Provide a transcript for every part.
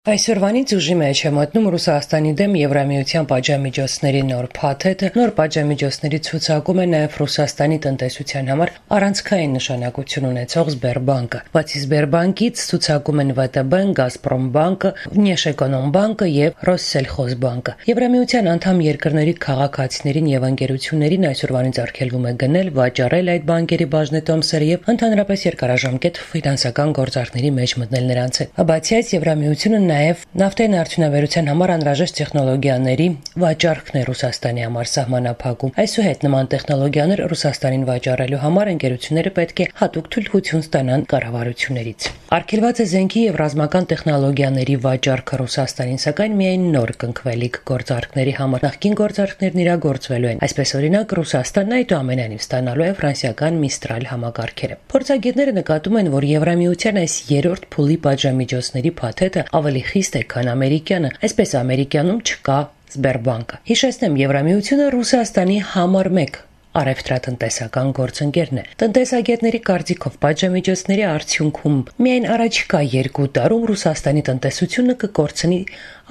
Այսօրվանից ուժի մեջ է մտնում Ռուսաստանի դեմ Եվրամիության պատժամիջոցների նոր փաթեթը։ Նոր պատժամիջոցների ցուցակում է նաև Ռուսաստանի տնտեսության համար առանցքային նշանակություն ունեցող Սբերբանկը։ Բացի Սբերբանկից ցուցակում են ՎՏԲ-ն, Գազպրոմբանկը, Վնեշէկոնոմբանկը եւ Ռոսսելխոզբանկը։ Եվրամիության անդամ երկրների քաղաքացիներին եւ ընկերություններին այսօրվանից արգելվում է գնել, վաճառել այդ բանկերի բաժնետոմսերը եւ ընդհանրապես երկարաժամկետ ֆինանսական գործարքների մեջ մտնել նրանց հետ։ Բացի այս, Եվրամիությունը նաև նավթային արդյունաբերության համար անհրաժեշտ տեխնոլոգիաների վաճառքն է Ռուսաստանի համար սահմանափակում։ Այսուհետ նման տեխնոլոգիաներ Ռուսաստանին վաճառելու համար ընկերությունները պետք է հատուկ թույլտվություն ստանան կառավարություններից։ Արգելված է զենքի եւ ռազմական տեխնոլոգիաների վաճառքը Ռուսաստանին, սակայն միայն նոր կնքվելիք գործարքների համար։ Նախկին գործարքներն իրագործվելու են։ Այսպես օրինակ Ռուսաստանն այդուամենայնիվ ստանալու է ֆրանսիական Միստրալ համակարգերը։ Փորձագետները նկատում են, որ Եվրամիության այս երրորդ փուլի պատժամիջոցների փաթեթը ավելի խիստ է, քան ամերիկյանը, այսպես ամերիկյանում չկա Սբերբանկը։ Հիշեցնեմ, Եվրամիությունը Ռուսաստանի համար 1 առևտրատնտեսական գործընկերն է։ Տնտեսագետների կարծիքով պատժամիջոցների արդյունքում միայն առաջիկա 2 տարում Ռուսաստանի տնտեսությունը կկորցնի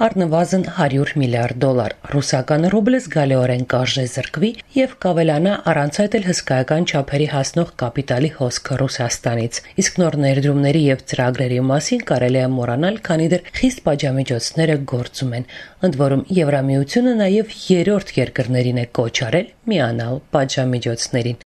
առնվազն $100 միլիարդ։ Ռուսական ռուբլը զգալիորեն կարժեզրկվի եւ կավելանա առանց այդ էլ հսկայական չափերի հասնող կապիտալի հոսքը Ռուսաստանից։ Իսկ նոր ներդրումների եւ ծրագրերի մասին կարելի է մոռանալ, քանի դեռ խիստ պատժամիջոցները գործում են։ Ընդ որում Եվրամիությունը նաեւ երրորդ երկրներին է կոչ արել միանալ պատժամիջոցներին։